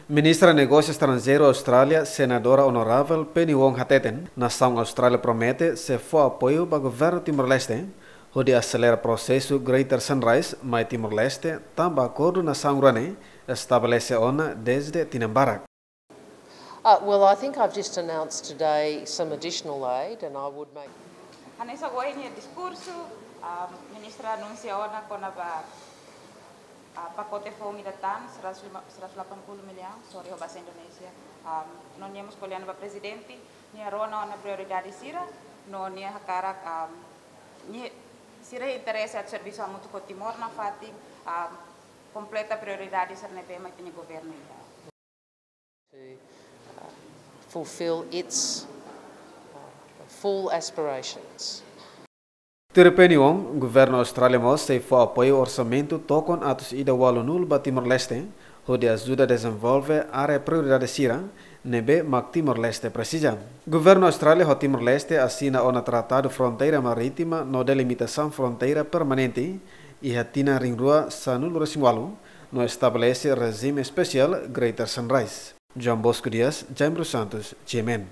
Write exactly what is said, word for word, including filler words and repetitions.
Ministra Negósiu Estranjeiru Austrália, Senadora Onoravel Penny Wong hateten, nasaun Austrália promete sei fó apoiu ba governu Timor-Leste hodi aselera prosesu Greater Sunrise mai Timor-Leste, tanba akordu nasaun rua ne'e estabelese ona dezde tinan barak. Uh, well, I think I've just announced today some additional aid, and I would make. Hanesan ohin nia diskursu, ah, ministra anunsia ona kona-ba, ah, pakote foun ida tan, seratus lima, seratus delapan puluh miliar, sorry, ho bahasa Indonesia. Ah, no nia mós ko'alia ona ba prezidente, nia rona ona prioridade sira, no nia hakarak, ah, nia sira interese atu servisu hamutuk ho Timor nafatin, ah, kompleta prioridade sira ne'ebé mak ita-nia governu iha. To, uh, fulfill its, uh, full aspirations. Tuir Penny Wong, governu Austrália mós sei fó apoiu orsamentu tokon atus ida ualunulu ba Timor-Leste, hodi ajuda dezenvolve área prioridade sira ne'ebé mak Timor-Leste presiza. Governu Austrália ho Timor-Leste asina ona Tratadu Fronteira Marítima no Delimitasaun Fronteira Permanente iha tinan rihun rua sanulu resin ualu, no estabelese rejime espesiál Greater Sunrise. João Bosco Dias, Jaime Santos, G M N.